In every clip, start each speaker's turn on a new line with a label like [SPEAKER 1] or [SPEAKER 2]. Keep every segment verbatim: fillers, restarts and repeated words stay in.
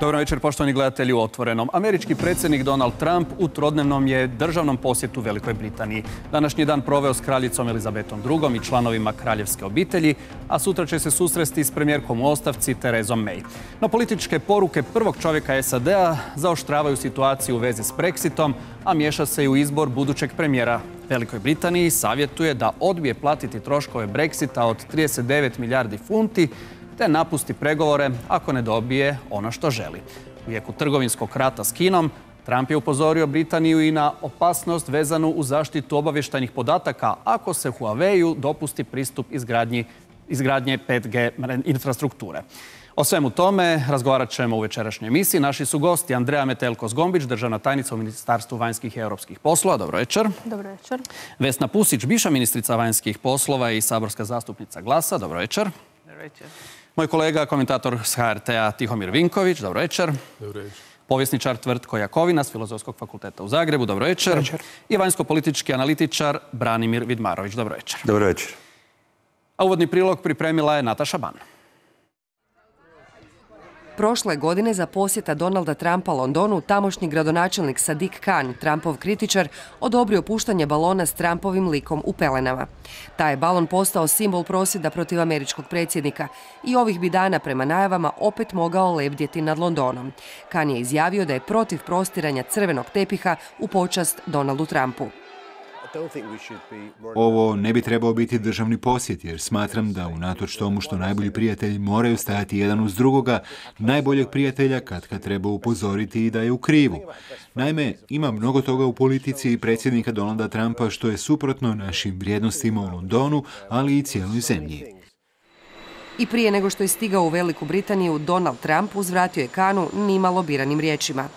[SPEAKER 1] Dobro večer, poštovani gledatelji u Otvorenom. Američki predsjednik Donald Trump u trodnevnom je državnom posjetu Velikoj Britaniji. Današnji dan proveo s kraljicom Elizabetom drugom i članovima kraljevske obitelji, a sutra će se susresti s premijerkom u ostavci Terezom May. No političke poruke prvog čovjeka S A D-a zaoštravaju situaciju u vezi s Brexitom, a miješa se i u izbor budućeg premijera. Velikoj Britaniji savjetuje da odbije platiti troškove Brexita od trideset devet milijardi funti, te napusti pregovore ako ne dobije ono što želi. U jeku trgovinskog rata s Kinom, Trump je upozorio Britaniju i na opasnost vezanu uz zaštitu obavještajnih podataka ako se Huawei-u dopusti pristup izgradnji, izgradnje pet G infrastrukture. O svemu tome razgovarat ćemo u večerašnjoj emisiji. Naši su gosti Andreja Metelko-Zgombić, državna tajnica u Ministarstvu vanjskih i europskih poslova. Dobro večer.
[SPEAKER 2] Dobro večer.
[SPEAKER 1] Vesna Pusić, bivša ministrica vanjskih poslova i saborska zastupnica Glasa. Dobro večer.
[SPEAKER 2] Dobro večer.
[SPEAKER 1] Moj kolega, komentator s H R T-a Tihomir Vinković. Dobro večer.
[SPEAKER 3] Dobro večer.
[SPEAKER 1] Povjesničar Tvrtko Jakovina s Filozofskog fakulteta u Zagrebu. Dobro večer. Dobro večer. I vanjsko-politički analitičar Branimir Vidmarović. Dobro večer.
[SPEAKER 3] Dobro večer.
[SPEAKER 1] A uvodni prilog pripremila je Nataša Ban.
[SPEAKER 4] Prošle godine za posjeta Donalda Trumpa Londonu tamošnji gradonačelnik Sadiq Khan, Trumpov kritičar, odobrio puštanje balona s Trumpovim likom u pelenama. Taj je balon postao simbol prosvjeda protiv američkog predsjednika i ovih bi dana prema najavama opet mogao lebdjeti nad Londonom. Khan je izjavio da je protiv prostiranja crvenog tepiha u počast Donaldu Trumpu.
[SPEAKER 5] Ovo ne bi trebao biti državni posjet, jer smatram da unatoč tomu što najbolji prijatelji moraju stajati jedan uz drugoga, najboljeg prijatelja katkad treba upozoriti i da je u krivu. Naime, ima mnogo toga u politici predsjednika Donalda Trumpa što je suprotno našim vrijednostima u Londonu, ali i cijeloj zemlji.
[SPEAKER 4] I prije nego što je stigao u Veliku Britaniju, Donald Trump uzvratio je Khanu nimalo biranim riječima.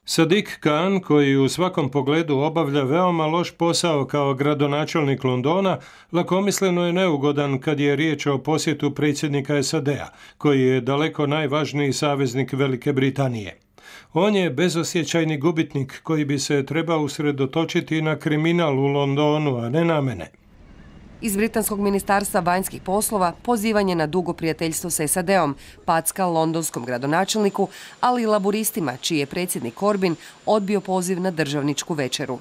[SPEAKER 6] Sadiq Khan, koji u svakom pogledu obavlja veoma loš posao kao gradonačelnik Londona, lakomisleno je neugodan kad je riječ o posjetu predsjednika S A D-a, koji je daleko najvažniji saveznik Velike Britanije. On je bezosjećajni gubitnik koji bi se trebao usredotočiti na kriminal u Londonu, a ne na mene.
[SPEAKER 4] Iz Britanskog ministarstva vanjskih poslova pozivanje na dugo prijateljstvo s S A D-om, packa londonskom gradonačelniku, ali i laburistima, čiji je predsjednik Corbyn odbio poziv na državničku večeru.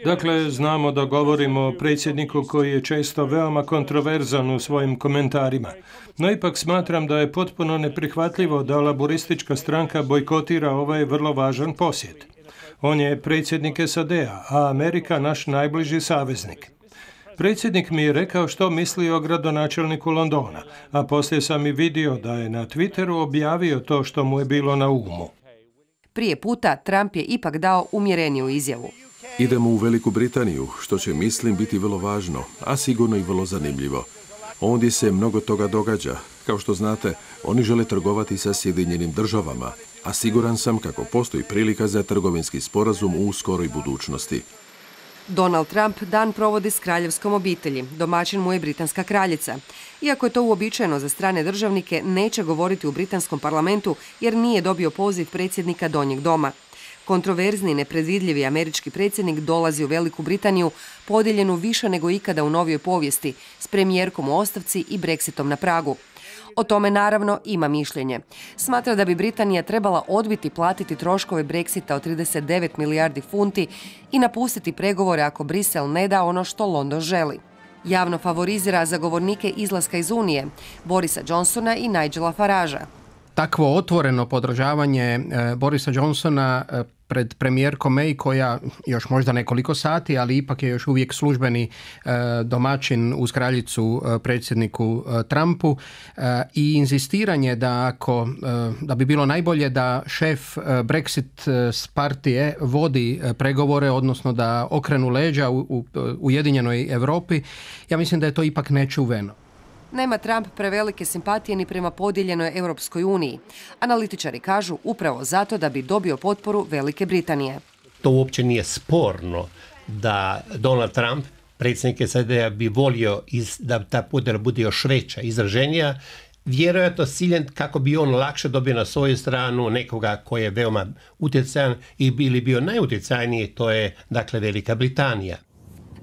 [SPEAKER 6] Dakle, znamo da govorimo o predsjedniku koji je često veoma kontroverzan u svojim komentarima. No ipak smatram da je potpuno neprihvatljivo da laburistička stranka bojkotira ovaj vrlo važan posjet. On je predsjednik S A D-a, a Amerika naš najbliži saveznik. Predsjednik mi je rekao što misli o gradonačelniku Londona, a poslije sam i vidio da je na Twitteru objavio to što mu je bilo na umu.
[SPEAKER 4] Prije puta Trump je ipak dao umjereniju izjavu.
[SPEAKER 3] Idemo u Veliku Britaniju, što će, mislim, biti vrlo važno, a sigurno i vrlo zanimljivo. Ondje se mnogo toga događa. Kao što znate, oni žele trgovati sa Sjedinjenim državama, a siguran sam kako postoji prilika za trgovinski sporazum u skoroj budućnosti.
[SPEAKER 4] Donald Trump dan provodi s kraljevskom obitelji. Domaćin mu je britanska kraljica. Iako je to uobičajeno za strane državnike, neće govoriti u britanskom parlamentu jer nije dobio poziv predsjednika Donjeg doma. Kontroverzni i nepredvidljivi američki predsjednik dolazi u Veliku Britaniju podijeljenu više nego ikada u novijoj povijesti, s premijerkom u ostavci i Brexitom na pragu. O tome naravno ima mišljenje. Smatra da bi Britanija trebala odbiti platiti troškove Brexita od trideset devet milijardi funti i napustiti pregovore ako Brisel ne da ono što London želi. Javno favorizira zagovornike izlaska iz Unije, Borisa Johnsona i Nigela Faragea.
[SPEAKER 7] Takvo otvoreno podržavanje Borisa Johnsona pred premijerkom May, koja još možda nekoliko sati, ali ipak je još uvijek službeni domaćin uz kraljicu predsjedniku Trumpu, i inzistiranje da ako da bi bilo najbolje da šef Brexit partije vodi pregovore, odnosno da okrenu leđa u, u Ujedinjenoj Europi, ja mislim da je to ipak nečuveno.
[SPEAKER 4] Nema Trump prevelike simpatije ni prema podijeljenoj Europskoj uniji. Analitičari kažu upravo zato da bi dobio potporu Velike Britanije.
[SPEAKER 8] To uopće nije sporno da Donald Trump, predsjednik S A D-a, bi volio iz, da ta podjela bude još veća, izraženija, vjerojatno s ciljem kako bi on lakše dobio na svoju stranu nekoga koji je veoma utjecajan i bili bio najutjecajniji, to je dakle Velika Britanija.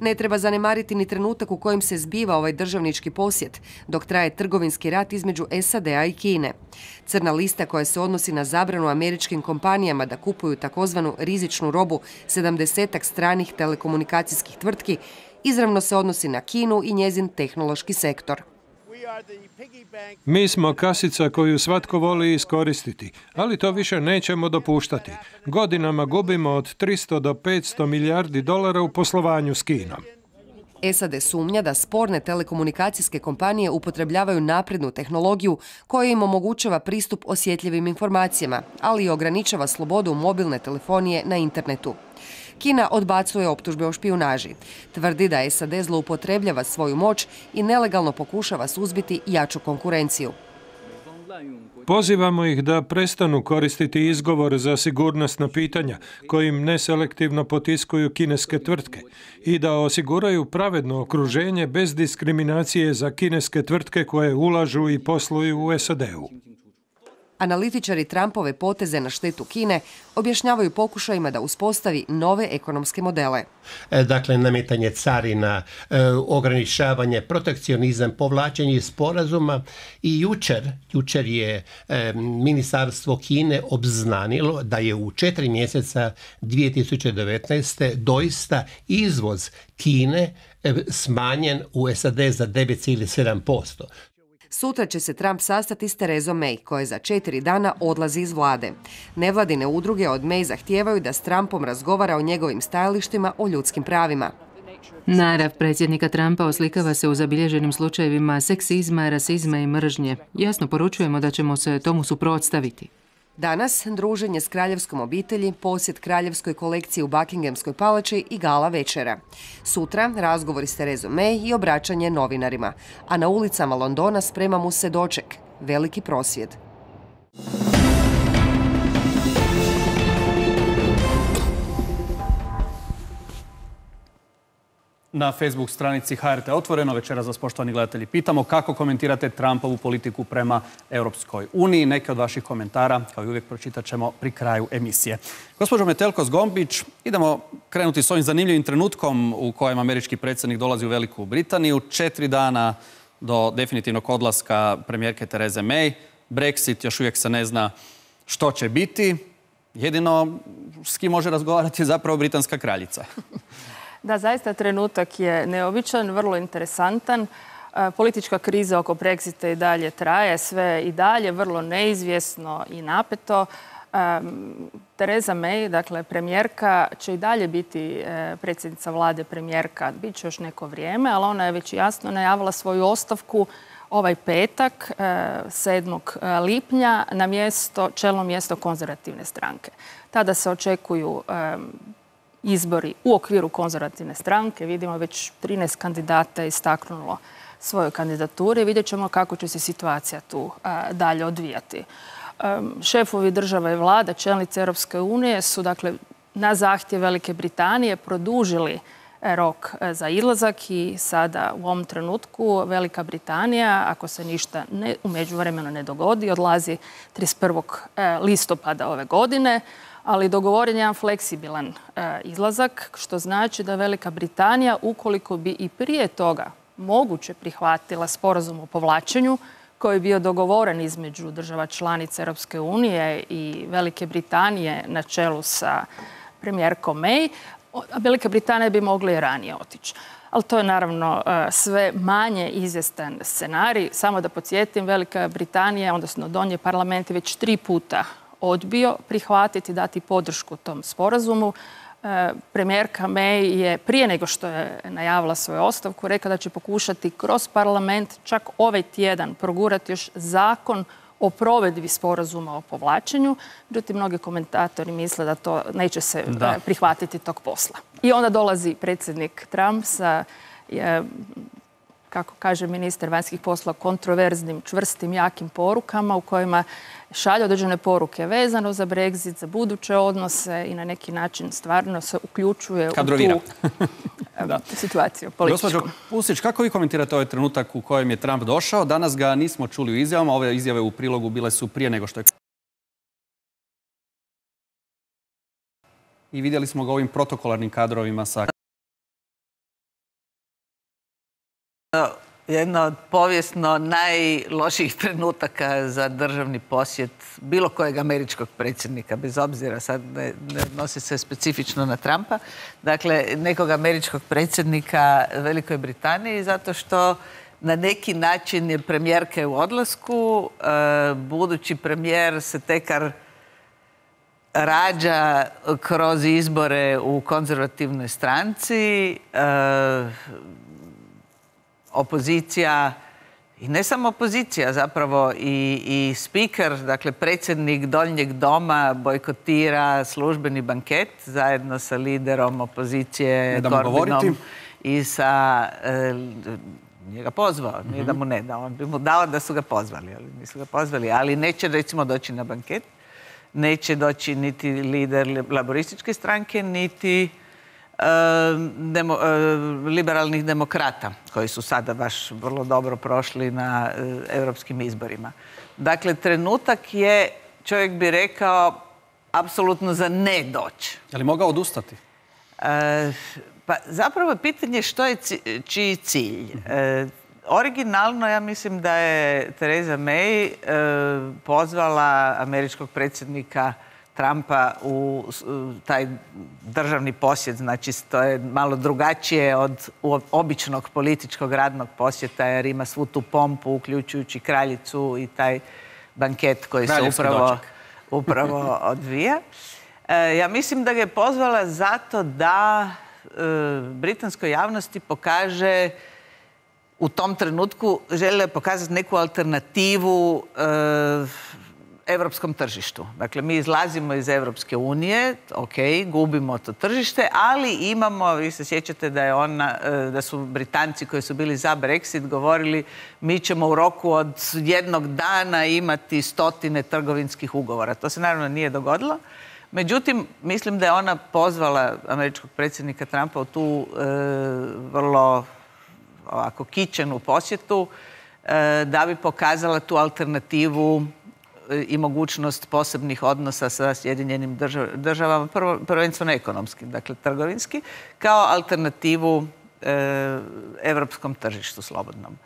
[SPEAKER 4] Ne treba zanemariti ni trenutak u kojem se zbiva ovaj državnički posjet, dok traje trgovinski rat između S A D-a i Kine. Crna lista koja se odnosi na zabranu američkim kompanijama da kupuju takozvanu rizičnu robu sedamdesetak stranih telekomunikacijskih tvrtki izravno se odnosi na Kinu i njezin tehnološki sektor.
[SPEAKER 6] Mi smo kasica koju svatko voli iskoristiti, ali to više nećemo dopuštati. Godinama gubimo od tristo do petsto milijardi dolara u poslovanju s Kinom.
[SPEAKER 4] S A D sumnja da sporne telekomunikacijske kompanije upotrebljavaju naprednu tehnologiju koja im omogućava pristup osjetljivim informacijama, ali i ograničava slobodu mobilne telefonije na internetu. Kina odbacuje optužbe o špijunaži. Tvrdi da S A D zloupotrebljava svoju moć i nelegalno pokušava suzbiti jaču konkurenciju.
[SPEAKER 6] Pozivamo ih da prestanu koristiti izgovor za sigurnosna pitanja kojim neselektivno potiskuju kineske tvrtke i da osiguraju pravedno okruženje bez diskriminacije za kineske tvrtke koje ulažu i posluju u S A D-u.
[SPEAKER 4] Analitičari Trumpove poteze na štetu Kine objašnjavaju pokušajima da uspostavi nove ekonomske modele.
[SPEAKER 8] Dakle, nametanje carina, ograničavanje, protekcionizam, povlačenje sporazuma i jučer, jučer je Ministarstvo Kine obznanilo da je u četiri mjeseca dvije tisuće devetnaeste. doista izvoz Kine smanjen u S A D za devet zarez sedam posto.
[SPEAKER 4] Sutra će se Trump sastati s Terezom May, koja za četiri dana odlazi iz vlade. Nevladine udruge od May zahtijevaju da s Trumpom razgovara o njegovim stajalištima o ljudskim pravima.
[SPEAKER 2] Narav predsjednika Trumpa oslikava se u zabilježenim slučajevima seksizma, rasizma i mržnje. Jasno poručujemo da ćemo se tomu suprotstaviti.
[SPEAKER 4] Danas druženje s kraljevskom obitelji, posjet kraljevskoj kolekciji u Buckinghamskoj palači i gala večera. Sutra razgovori s Terezom May i obraćanje novinarima. A na ulicama Londona sprema mu se doček, veliki prosvjed.
[SPEAKER 1] Na Facebook stranici H R T Otvoreno večeras vas, poštovani gledatelji, pitamo kako komentirate Trumpovu politiku prema Europskoj uniji. Neke od vaših komentara, kao i uvijek, pročitat ćemo pri kraju emisije. Gospođo Metelko-Zgombić, idemo krenuti s ovim zanimljivim trenutkom u kojem američki predsjednik dolazi u Veliku Britaniju. Četiri dana do definitivnog odlaska premijerke Tereze May. Brexit još uvijek se ne zna što će biti. Jedino s kim može razgovarati je zapravo britanska kraljica.
[SPEAKER 9] Da, zaista trenutak je neobičan, vrlo interesantan. Politička kriza oko Brexita i dalje traje, sve i dalje vrlo neizvjesno i napeto. Tereza May, dakle premijerka, će i dalje biti predsjednica vlade premijerka. Biće još neko vrijeme, ali ona je već jasno najavila svoju ostavku ovaj petak, sedmog lipnja, na mjesto, čelno mjesto konzervativne stranke. Tada se očekuju izbori u okviru konzervativne stranke. Vidimo već trinaest kandidata je istaknulo svoju kandidaturu i vidjet ćemo kako će se situacija tu dalje odvijati. Šefovi država i vlada, čelnice Europske unije su dakle na zahtjev Velike Britanije produžili rok za izlazak i sada u ovom trenutku Velika Britanija, ako se ništa ne, u međuvremenu ne dogodi, odlazi trideset prvog listopada ove godine, ali dogovoren je jedan fleksibilan e, izlazak, što znači da Velika Britanija, ukoliko bi i prije toga moguće prihvatila sporazum o povlačenju, koji je bio dogovoren između država članica Europske unije i Velike Britanije na čelu sa premijerkom May, Velika Britanija bi mogla i ranije otići. Ali to je naravno sve manje izvjestan scenarij. Samo da podsjetim, Velika Britanija, odnosno donji parlament, je već tri puta odbio prihvatiti, dati podršku tom sporazumu. Premijerka May je prije nego što je najavila svoju ostavku rekla da će pokušati kroz parlament čak ovaj tjedan progurati još zakon o provedbi sporazuma o povlačenju. Međutim, mnogi komentatori misle da to neće se da. prihvatiti tog posla. I onda dolazi predsjednik Trump sa, je, kako kaže ministar vanjskih poslova, kontroverznim, čvrstim, jakim porukama u kojima šalje određene poruke vezano za Brexit, za buduće odnose i na neki način stvarno se uključuje
[SPEAKER 1] Kadrovira.
[SPEAKER 9] u tu situaciju političku.
[SPEAKER 1] Gospođo Pusić, kako vi komentirate ovaj trenutak u kojem je Trump došao? Danas ga nismo čuli u izjavama. Ove izjave u prilogu bile su prije nego što je... I vidjeli smo ga ovim protokolarnim kadrovima sa
[SPEAKER 10] Jedno od povijesno najlošijih trenutaka za državni posjet bilo kojeg američkog predsjednika, bez obzira, sad ne, ne odnosi se specifično na Trumpa, dakle nekog američkog predsjednika Velikoj Britaniji, zato što na neki način je premijerka u odlasku, budući premijer se tekar rađa kroz izbore u konzervativnoj stranci, opozicija, i ne samo opozicija, zapravo i, i speaker, dakle predsjednik Donjeg doma bojkotira službeni banket zajedno sa liderom opozicije Corbynom i sa... E, nije ga pozvao, nije da mu ne da. On bi mu dao da su ga pozvali, ali nisu ga pozvali. Ali neće, recimo, doći na banket. Neće doći niti lider laborističke stranke, niti Demo, liberalnih demokrata, koji su sada baš vrlo dobro prošli na europskim izborima. Dakle, trenutak je, čovjek bi rekao, apsolutno za ne doći.
[SPEAKER 1] Je li mogao odustati?
[SPEAKER 10] E, pa zapravo je pitanje što je čiji cilj. E, originalno, ja mislim da je Theresa May e, pozvala američkog predsjednika Trumpa u taj državni posjet, znači to je malo drugačije od običnog političkog radnog posjeta, jer ima svu tu pompu, uključujući kraljicu i taj banket koji se upravo, upravo odvija. E, ja mislim da ga je pozvala zato da e, britanskoj javnosti pokaže, u tom trenutku žele pokazati neku alternativu e, evropskom tržištu. Dakle, mi izlazimo iz Evropske unije, ok, gubimo to tržište, ali imamo, vi se sjećate da je ona, da su Britanci koji su bili za Brexit govorili mi ćemo u roku od jednog dana imati stotine trgovinskih ugovora. To se naravno nije dogodilo. Međutim, mislim da je ona pozvala američkog predsjednika Trumpa u tu e, vrlo ovako kičenu posjetu e, da bi pokazala tu alternativu i mogućnost posebnih odnosa sa Sjedinjenim državama, prvo, prvenstveno ekonomski, dakle trgovinski, kao alternativu e, evropskom tržištu slobodnom.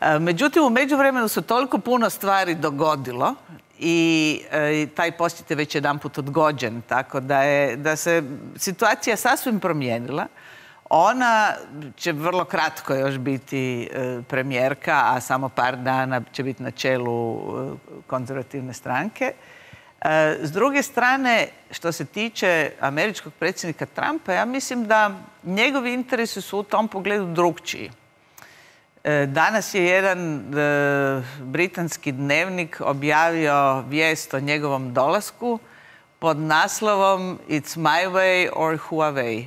[SPEAKER 10] E, međutim, u međuvremenu se toliko puno stvari dogodilo i e, taj posjet je već jedanput odgođen, tako da, je, da se situacija sasvim promijenila. Ona će vrlo kratko još biti premijerka, a samo par dana će biti na čelu konzervativne stranke. S druge strane, što se tiče američkog predsjednika Trumpa, ja mislim da njegovi interesi su u tom pogledu drukčiji. Danas je jedan britanski dnevnik objavio vijest o njegovom dolasku pod naslovom It's my way or Huawei.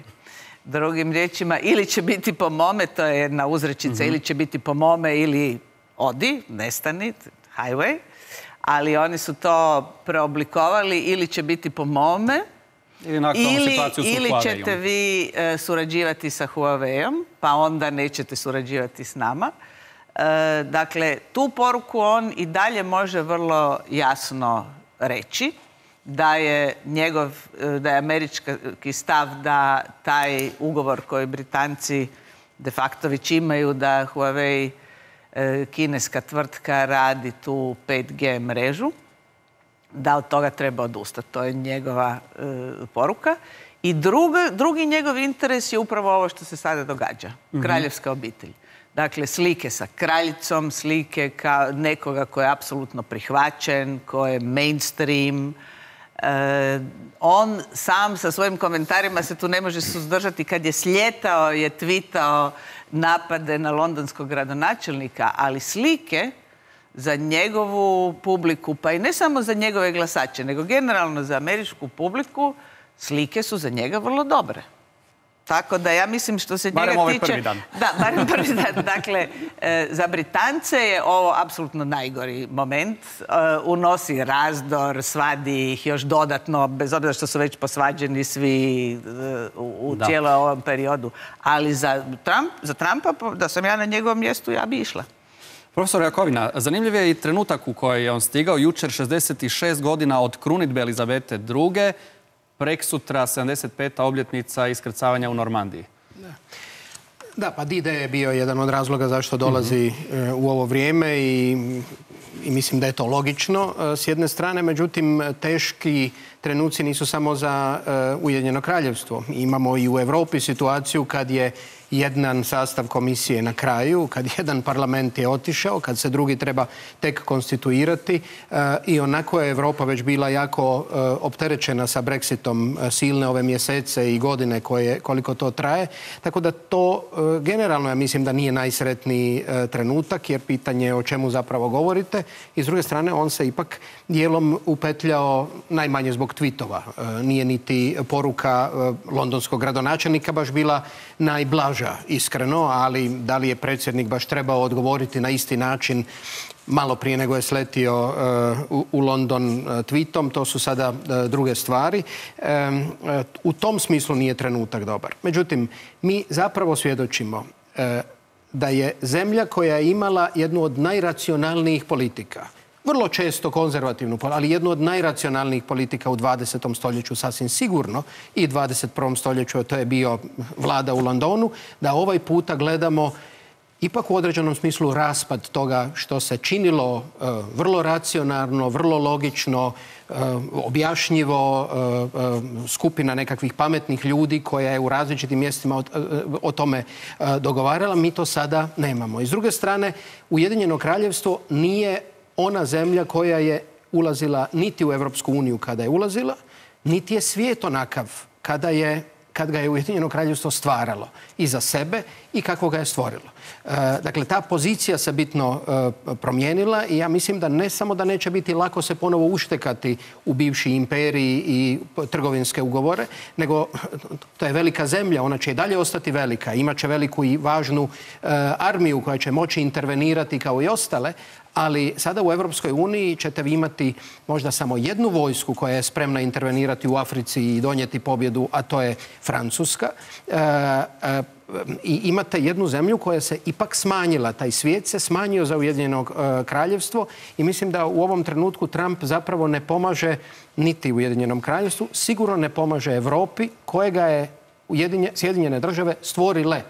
[SPEAKER 10] Drugim riječima, ili će biti po mome, to je jedna uzrečica, mm-hmm. ili će biti po mome ili odi, nestani, highway, ali oni su to preoblikovali, ili će biti po mome, ili, ili ćete vi e, surađivati sa Huaweiom, pa onda nećete surađivati s nama. E, dakle, tu poruku on i dalje može vrlo jasno reći, da je njegov, da je američki stav da taj ugovor koji Britanci de facto već imaju, da Huawei, kineska tvrtka, radi tu pet G mrežu, da od toga treba odustati. To je njegova e, poruka. I drugi, drugi njegov interes je upravo ovo što se sada događa. Mm-hmm. Kraljevska obitelj. Dakle, slike sa kraljicom, slike kao nekoga koji je apsolutno prihvaćen, koji je mainstream. E, on sam sa svojim komentarima se tu ne može suzdržati. Kad je sljetao, je tvitao napade na londonskog gradonačelnika, ali slike za njegovu publiku, pa i ne samo za njegove glasače, nego generalno za američku publiku, slike su za njega vrlo dobre. Tako da ja mislim što se
[SPEAKER 1] barem
[SPEAKER 10] njega
[SPEAKER 1] ovaj
[SPEAKER 10] tiče...
[SPEAKER 1] prvi dan.
[SPEAKER 10] Da, barem prvi dan. Dakle, e, za Britance je ovo apsolutno najgori moment. E, unosi razdor, svadi ih još dodatno, bez obzira što su već posvađeni svi e, u, u cijelom ovom periodu. Ali za, Trump, za Trumpa, da sam ja na njegovom mjestu, ja bi išla.
[SPEAKER 1] Profesor Jakovina, zanimljiv je i trenutak u koji je on stigao. Jučer šezdeset šest godina od krunidbe Elizabete druge. Preksutra sedamdeset peta obljetnica iskrcavanja u Normandiji.
[SPEAKER 7] Da, pa D-Day je bio jedan od razloga zašto dolazi mm-hmm. u ovo vrijeme i, i mislim da je to logično s jedne strane, međutim teški trenuci nisu samo za uh, Ujedinjeno kraljevstvo. Imamo i u Europi situaciju kad je jedan sastav komisije na kraju, kad jedan parlament je otišao, kad se drugi treba tek konstituirati uh, i onako je Europa već bila jako uh, opterećena sa Brexitom uh, silne ove mjesece i godine koje, koliko to traje. Tako da to uh, generalno ja mislim da nije najsretniji uh, trenutak jer pitanje je o čemu zapravo govorite i s druge strane on se ipak dijelom upetljao najmanje zbog tweetova. Uh, nije niti poruka uh, londonskog gradonačelnika baš bila najblaža. Iskreno, ali da li je predsjednik baš trebao odgovoriti na isti način malo prije nego je sletio uh, u, u London uh, tweetom, to su sada uh, druge stvari. Um, uh, u tom smislu nije trenutak dobar. Međutim, mi zapravo svjedočimo uh, da je zemlja koja je imala jednu od najracionalnijih politika, vrlo često konzervativnu, ali jednu od najracionalnijih politika u dvadesetom stoljeću sasvim sigurno i dvadeset prvom stoljeću, to je bio vlada u Londonu, da ovaj puta gledamo ipak u određenom smislu raspad toga što se činilo uh, vrlo racionalno, vrlo logično, uh, objašnjivo, uh, uh, skupina nekakvih pametnih ljudi koja je u različitim mjestima o, uh, o tome uh, dogovarala. Mi to sada nemamo. I s druge strane, Ujedinjeno kraljevstvo nije ona zemlja koja je ulazila niti u Europsku uniju kada je ulazila, niti je svijet onakav kada je, kad ga je Ujedinjeno kraljevstvo stvaralo i za sebe i kako ga je stvorilo. E, dakle, ta pozicija se bitno e, promijenila i ja mislim da ne samo da neće biti lako se ponovo uštekati u bivši imperiji i trgovinske ugovore, nego to je velika zemlja, ona će i dalje ostati velika, imat će veliku i važnu e, armiju koja će moći intervenirati kao i ostale, ali sada u Europskoj uniji ćete vi imati možda samo jednu vojsku koja je spremna intervenirati u Africi i donijeti pobjedu, a to je Francuska. E, e, I imate jednu zemlju koja se ipak smanjila. Taj svijet se smanjio za Ujedinjeno e, kraljevstvo i mislim da u ovom trenutku Trump zapravo ne pomaže niti Ujedinjenom kraljevstvu, sigurno ne pomaže Europi kojega je Ujedinje, Sjedinjene države stvorile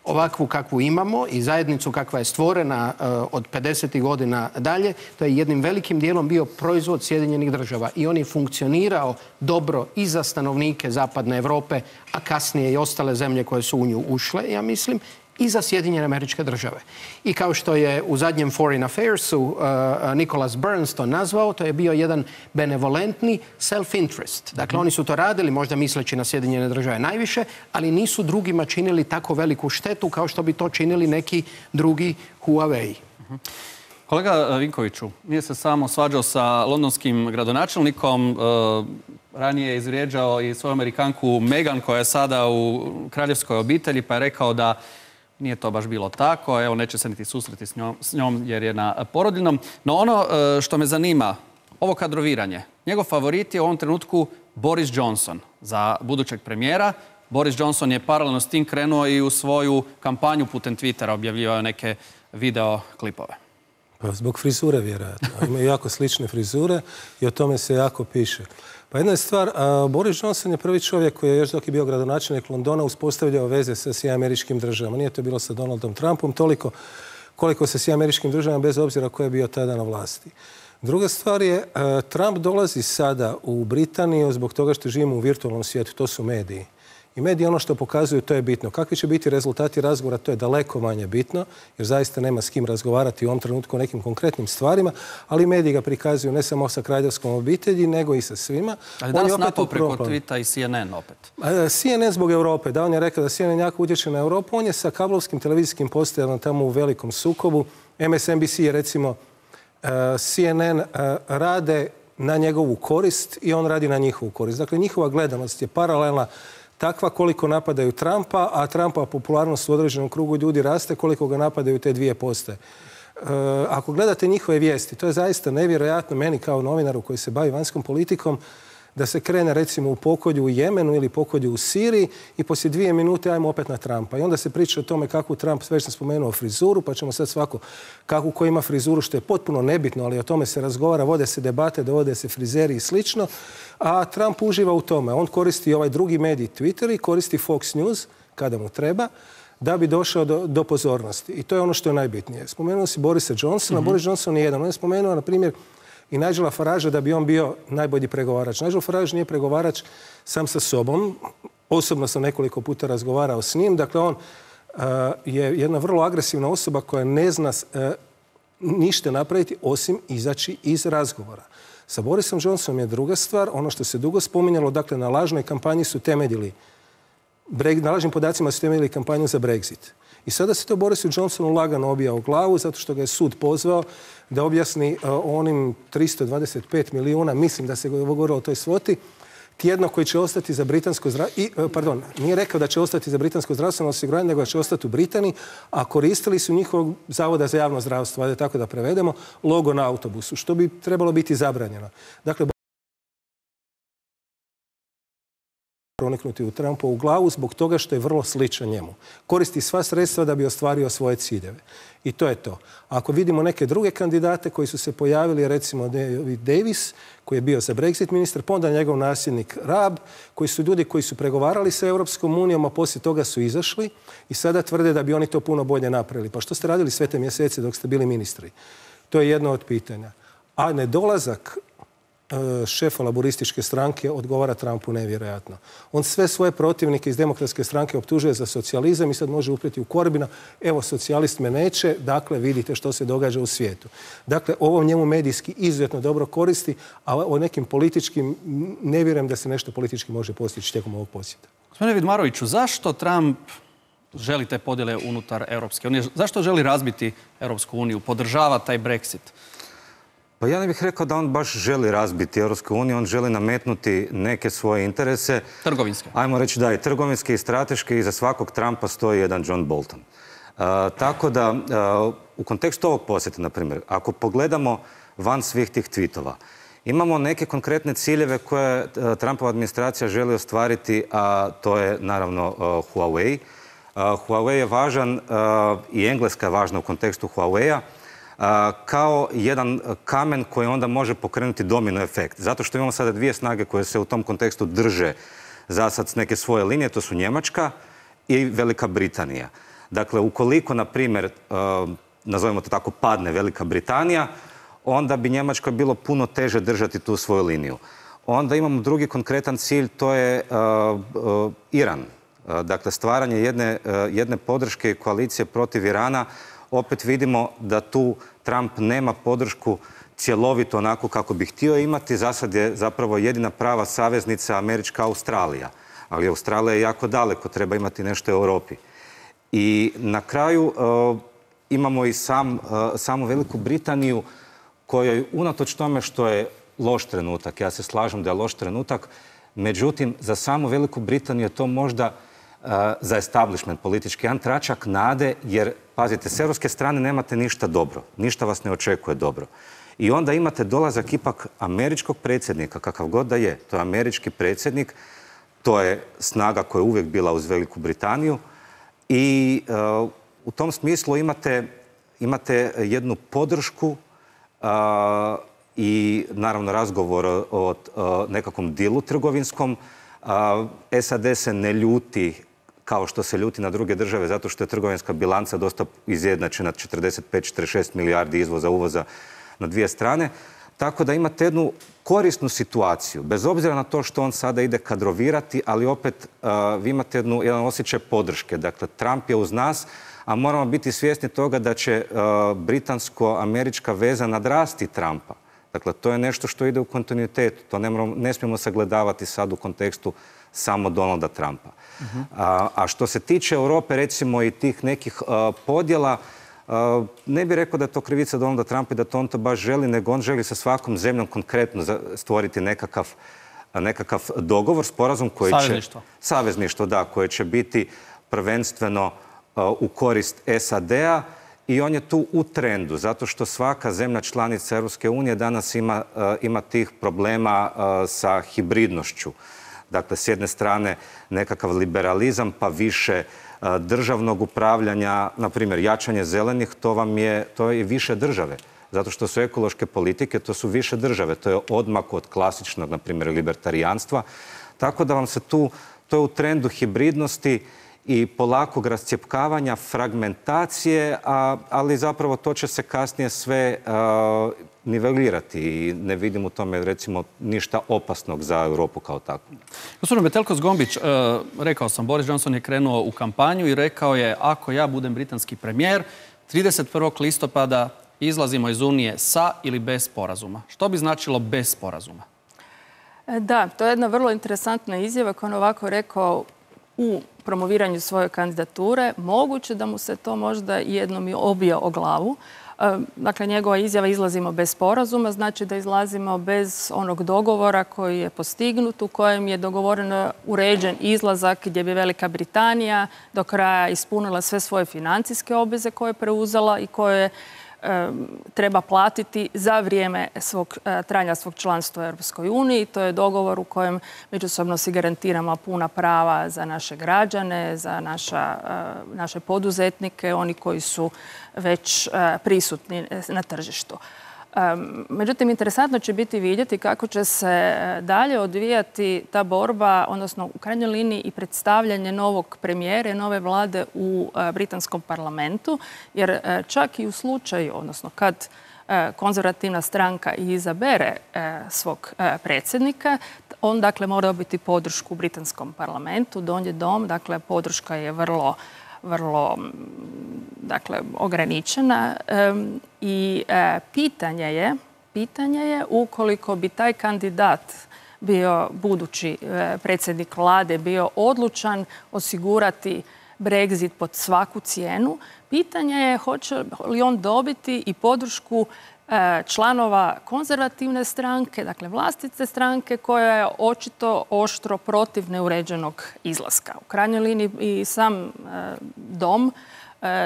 [SPEAKER 7] ovakvu kakvu imamo i zajednicu kakva je stvorena uh, od pedesetih godina dalje, to je jednim velikim dijelom bio proizvod Sjedinjenih država i on je funkcionirao dobro i za stanovnike Zapadne Europe, a kasnije i ostale zemlje koje su u nju ušle, ja mislim, i za Sjedinjene Američke Države. I kao što je u zadnjem Foreign Affairsu uh, Nicholas Burns to nazvao, to je bio jedan benevolentni self-interest. Dakle, oni su to radili, možda misleći na Sjedinjene Države najviše, ali nisu drugima činili tako veliku štetu kao što bi to činili neki drugi Huawei.
[SPEAKER 1] Kolega Vinkoviću, nije se samo svađao sa londonskim gradonačelnikom, uh, ranije je izvrijeđao i svoju Amerikanku Meghan koja je sada u kraljevskoj obitelji, pa je rekao da nije to baš bilo tako, evo neće se niti susreti s njom, s njom jer je na porodiljnom. No ono što me zanima, ovo kadroviranje. Njegov favorit je u ovom trenutku Boris Johnson za budućeg premijera. Boris Johnson je paralelno s tim krenuo i u svoju kampanju putem Twittera, objavljivao neke video klipove.
[SPEAKER 11] Pa zbog frizure vjerojatno. Imaju jako slične frizure i o tome se jako piše. Pa jedna je stvar, Boris Johnson je prvi čovjek koji je još dok je bio gradonačelnik Londona uspostavljao veze sa svim američkim državama. Nije to bilo sa Donaldom Trumpom toliko koliko sa svim američkim državama bez obzira ko je bio tada na vlasti. Druga stvar je, Trump dolazi sada u Britaniju zbog toga što živimo u virtualnom svijetu, to su mediji. I mediji ono što pokazuju, to je bitno. Kakvi će biti rezultati razgovora, to je daleko manje bitno, jer zaista nema s kim razgovarati u ovom trenutku o nekim konkretnim stvarima, ali mediji ga prikazuju ne samo sa kraljevskom obitelji, nego i sa svima.
[SPEAKER 1] Ali danas napao preko Twita i C N N opet.
[SPEAKER 11] C N N zbog Europe. Da, on je rekao da C N N jako utječe na Europu. On je sa kablovskim televizijskim postajama tamo u velikom sukobu. M S N B C je recimo C N N rade na njegovu korist i on radi na njihovu korist. Dakle, njihova gledanost je paralelna takva koliko napadaju Trumpa, a Trumpova popularnost u određenom krugu ljudi raste koliko ga napadaju te dvije postaje. E, ako gledate njihove vijesti, to je zaista nevjerojatno meni kao novinaru koji se bavi vanjskom politikom, da se krene recimo u pokolju u Jemenu ili pokolju u Siriji i poslije dvije minute ajmo opet na Trumpa. I onda se priča o tome kako Trump, već sam spomenuo frizuru, pa ćemo sad svako kako ko ima frizuru, što je potpuno nebitno, ali o tome se razgovara, vode se debate, dovode se frizeri i slično. A Trump uživa u tome. On koristi ovaj drugi medij Twitter i koristi Fox News kada mu treba da bi došao do, do pozornosti. I to je ono što je najbitnije. Spomenuo si Borisa Johnsona. Mm-hmm. Boris Johnson je jedan. On je spomenuo, na primjer, i Nigela Faragea da bi on bio najbolji pregovarač. Nigel Farage nije pregovarač sam sa sobom. Osobno sam nekoliko puta razgovarao s njim. Dakle, on uh, je jedna vrlo agresivna osoba koja ne zna uh, ništa napraviti osim izaći iz razgovora. Sa Borisom Johnsonom je druga stvar. Ono što se dugo spominjalo, dakle, na lažnoj kampanji su temeljili, na lažnim podacima su temeljili kampanju za Brexit. I sada se to Borisu Johnsonu lagano obija u glavu zato što ga je sud pozvao da objasni uh, onim tristo dvadeset pet milijuna, mislim da se govorilo o toj svoti, tjedno koji će ostati za britansko zdravstveno, pardon, nije rekao da će ostati za britansko zdravstveno osiguranje, nego da će ostati u Britaniji, a koristili su njihovog zavoda za javno zdravstvo, ajde tako da prevedemo, logo na autobusu, što bi trebalo biti zabranjeno. Dakle, proniknuti u Trumpovu glavu zbog toga što je vrlo sličan njemu. Koristi sva sredstva da bi ostvario svoje ciljeve. I to je to. Ako vidimo neke druge kandidate koji su se pojavili, recimo David Davis, koji je bio za Brexit ministar, pa onda njegov nasljednik Raab, koji su ljudi koji su pregovarali sa Europskom unijom, a poslije toga su izašli i sada tvrde da bi oni to puno bolje napravili. Pa što ste radili sve te mjesece dok ste bili ministri? To je jedno od pitanja. A nedolazak šefa laborističke stranke odgovara Trumpu nevjerojatno. On sve svoje protivnike iz demokratske stranke optužuje za socijalizam i sad može uprijeti u Corbina. Evo, socijalist me neće, dakle vidite što se događa u svijetu. Dakle, ovo njemu medijski izuzetno dobro koristi, a o nekim političkim ne vjerujem da se nešto politički može postići tijekom ovog posjeta.
[SPEAKER 1] Gospodine Vidmaroviću, zašto Trump želi te podjele unutar Europske unije? Zašto želi razbiti Europsku uniju, podržava taj Brexit?
[SPEAKER 12] Pa ja ne bih rekao da on baš želi razbiti Europsku uniju, on želi nametnuti neke svoje interese.
[SPEAKER 1] Trgovinske.
[SPEAKER 12] Ajmo reći da, i trgovinske i strateške, i za svakog Trumpa stoji jedan John Bolton. Uh, tako da, uh, u kontekstu ovog posjeta, na primjer, ako pogledamo van svih tih tweetova, imamo neke konkretne ciljeve koje uh, Trumpova administracija želi ostvariti, a to je naravno uh, Huawei. Uh, Huawei je važan uh, i Engleska je važna u kontekstu Huawei-a, kao jedan kamen koji onda može pokrenuti domino efekt. Zato što imamo sada dvije snage koje se u tom kontekstu drže za sad s neke svoje linije, to su Njemačka i Velika Britanija. Dakle, ukoliko, na primjer, nazovimo to tako, padne Velika Britanija, onda bi Njemačkoj bilo puno teže držati tu svoju liniju. Onda imamo drugi konkretan cilj, to je uh, uh, Iran. Uh, dakle, stvaranje jedne, uh, jedne podrške i koalicije protiv Irana. Opet vidimo da tu Trump nema podršku cjelovito onako kako bi htio imati. Za sad je zapravo jedina prava saveznica američka Australija. Ali Australija je jako daleko, treba imati nešto u Europi. I na kraju uh, imamo i sam, uh, samu Veliku Britaniju kojoj unatoč tome što je loš trenutak, ja se slažem da je loš trenutak, međutim za samu Veliku Britaniju je to možda uh, za establishment politički jedan tračak nade, jer pazite, s europske strane nemate ništa dobro, ništa vas ne očekuje dobro. I onda imate dolazak ipak američkog predsjednika, kakav god da je, to je američki predsjednik, to je snaga koja je uvijek bila uz Veliku Britaniju i uh, u tom smislu imate, imate jednu podršku uh, i naravno razgovor o, o, o nekakvom dilu trgovinskom. Uh, S A D se ne ljuti kao što se ljuti na druge države, zato što je trgovinska bilanca dosta izjednačena, četrdeset pet četrdeset šest milijardi izvoza, uvoza na dvije strane. Tako da imate jednu korisnu situaciju, bez obzira na to što on sada ide kadrovirati, ali opet uh, vi imate jednu, jedan osjećaj podrške. Dakle, Trump je uz nas, a moramo biti svjesni toga da će uh, britansko-američka veza nadrasti Trumpa. Dakle, to je nešto što ide u kontinuitetu. To ne, moramo, ne smijemo sagledavati sad u kontekstu samo Donalda Trumpa. Uh-huh. a, a što se tiče Europe, recimo, i tih nekih uh, podjela, uh, ne bih rekao da je to krivica Donalda Trumpa i da to on to baš želi, nego on želi sa svakom zemljom konkretno stvoriti nekakav, nekakav dogovor, sporazum koji
[SPEAKER 1] Savezništvo.
[SPEAKER 12] će... Savezništvo, da, koje će biti prvenstveno uh, u korist S A D-a. I on je tu u trendu, zato što svaka zemlja članica Europske unije danas ima, uh, ima tih problema uh, sa hibridnošću. Dakle, s jedne strane nekakav liberalizam, pa više uh, državnog upravljanja, na primjer jačanje zelenih, to vam je, to je više države. Zato što su ekološke politike, to su više države. To je odmak od klasičnog, na primjer, libertarijanstva. Tako da vam se tu, to je u trendu hibridnosti i polakog rascjepkavanja, fragmentacije, a, ali zapravo to će se kasnije sve a, nivelirati i ne vidim u tome recimo ništa opasnog za Europu kao takvu.
[SPEAKER 1] Gospodin Metelko-Zgombić, rekao sam, Boris Johnson je krenuo u kampanju i rekao je ako ja budem britanski premijer, trideset prvog listopada izlazimo iz Unije sa ili bez sporazuma. Što bi značilo bez sporazuma?
[SPEAKER 9] Da, to je jedna vrlo interesantna izjava koja on ovako rekao u promoviranju svoje kandidature. Moguće da mu se to možda jednom i obija o glavu. Dakle, njegova izjava izlazimo bez sporazuma, znači da izlazimo bez onog dogovora koji je postignut, u kojem je dogovoreno uređen izlazak gdje bi Velika Britanija do kraja ispunila sve svoje financijske obveze koje je preuzela i koje treba platiti za vrijeme svog, trajanja svog članstva u Europskoj uniji. To je dogovor u kojem međusobno si garantiramo puna prava za naše građane, za naša, naše poduzetnike, oni koji su već prisutni na tržištu. Međutim, interesantno će biti vidjeti kako će se dalje odvijati ta borba, odnosno u krajnjoj liniji i predstavljanje novog premijera, nove vlade u britanskom parlamentu, jer čak i u slučaju, odnosno kad konzervativna stranka izabere svog predsjednika, on dakle mora dobiti podršku u britanskom parlamentu, donji dom, dakle podrška je vrlo vrlo dakle, ograničena i pitanje je, pitanje je ukoliko bi taj kandidat bio budući predsjednik vlade, bio odlučan osigurati Brexit pod svaku cijenu, pitanje je hoće li on dobiti i podršku članova konzervativne stranke, dakle vlastite stranke koja je očito oštro protiv neuređenog izlaska. U krajnjoj liniji i sam dom,